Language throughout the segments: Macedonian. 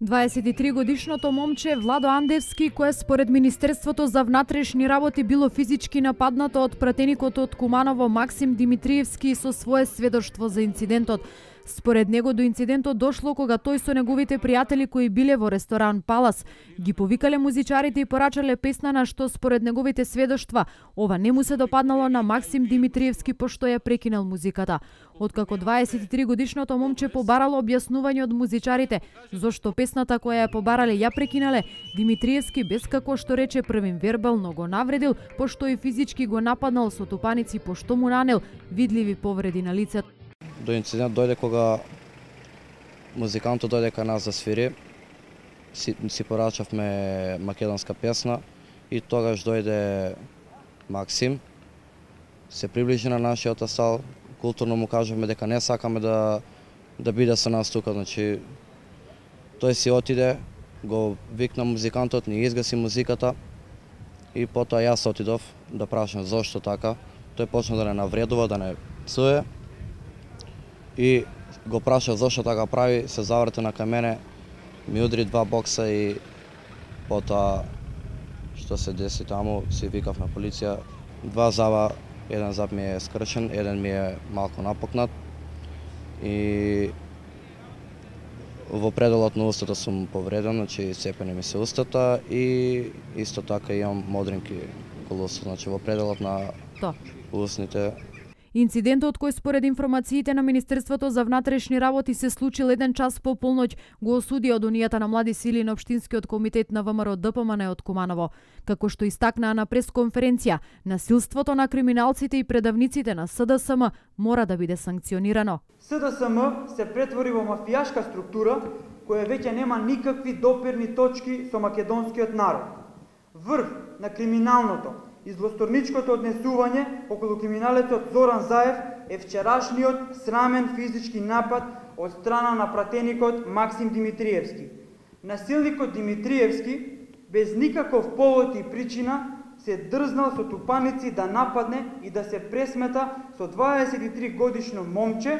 23-годишното момче Владо Андевски, кое според Министерството за внатрешни работи било физички нападнато од пратеникот од Куманово Максим Димитриевски со свое сведоштво за инцидентот. Според него до инцидентот дошло кога тој со неговите пријатели кои биле во ресторан Палас ги повикале музичарите и порачале песна, на што според неговите сведоштва ова не му се допаднало на Максим Димитриевски пошто ја прекинал музиката. Откако 23-годишното момче побарало објаснување од музичарите зошто песната која ја побарале ја прекинале, Димитриевски без како што рече првим вербално го навредил, пошто и физички го нападнал со тупаници пошто му нанел видливи повреди на лицето. До инцидент дојде кога музикантот дојде кај нас да свири, си порачавме македонска песна и тогаш дојде Максим, се приближи на нашиот астал, културно му кажавме дека не сакаме да биде со нас тука, значи тој си отиде, го викна музикантот, ни изгаси музиката и потоа јас отидов да прашам зошто така, тој почна да не навредува, да не псуе. И го праша зошто така прави, се заврте на кај мене, ми удри 2 бокса и потоа што се деси таму, си викав на полиција. 2 заба, еден заб ми е скршен, еден ми е малку напокнат и во пределот на устата сум повреден, значи цепени ми се устата и исто така имам модринки околу устата, значи во пределот на устните. Инцидентот кој според информациите на Министерството за внатрешни работи се случил 1 час по полноќ го осуди од Унијата на млади сили на Општинскиот комитет на ВМРО ДПМН од Куманово. Како што истакнаа на пресконференција, насилството на криминалците и предавниците на СДСМ мора да биде санкционирано. СДСМ се претвори во мафијашка структура која веќе нема никакви допирни точки со македонскиот народ. Врв на криминалното и злосторничкото однесување околу криминалецот Зоран Заев е вчерашниот срамен физички напад од страна на пратеникот Максим Димитриевски. Насилникот Димитриевски, без никаков повод и причина, се дрзнал со тупаници да нападне и да се пресмета со 23 годишно момче,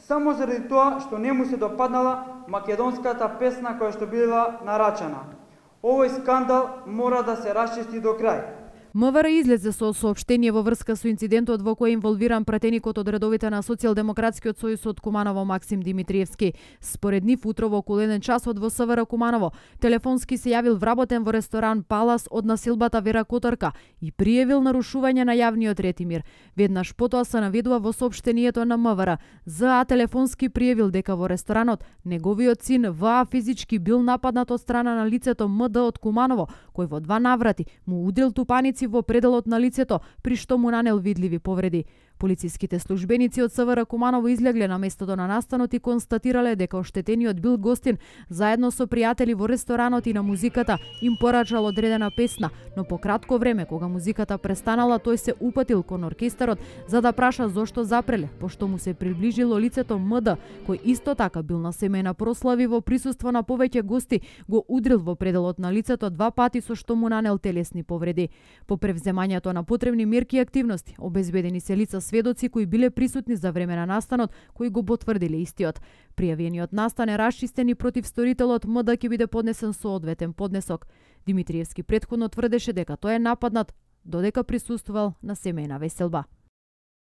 само заради тоа што не му се допаднала македонската песна која што била нарачана. Овој скандал мора да се расчисти до крај. МВР излезе со соопштение во врска со инцидентот во кој инволвиран пратеникот од редовите на Социјалдемократскиот сојуз од Куманово Максим Димитриевски. Според нив утрово околу 1 часот во СВР Куманово телефонски се јавил вработен во ресторан Палас од насилбата Вера Котарка и пријавил нарушување на јавниот ред и мир. Веднаш потоа се наведува во соопштението на МВР. ЗА телефонски пријавил дека во ресторанот неговиот син ВА физички бил нападнат од страна на лицето МД од Куманово, кој во 2 наврати му удрил тупаници во пределот на лицето, при што му нанел видливи повреди. Полициските службеници од СВР Куманово излегле на местото на настанот и констатирале дека оштетениот бил гостин заедно со пријатели во ресторанот и на музиката им порачал одредена песна, но по кратко време кога музиката престанала, тој се упатил кон оркестарот за да праша зошто запреле, пошто му се приближило лицето МД, кој исто така бил на семејна прослави во присуство на повеќе гости, го удрил во пределот на лицето 2 пати со што му нанел телесни повреди. По превземањето на потребни мерки и активности, обезбедени се лица сведоци кои биле присутни за време на настанот, кои го потврдиле истиот. Пријавениот настан е расчистен и против сторителот МД ќе биде поднесен соодветен поднесок. Димитриевски претходно тврдеше дека тој е нападнат додека присуствувал на семејна веселба.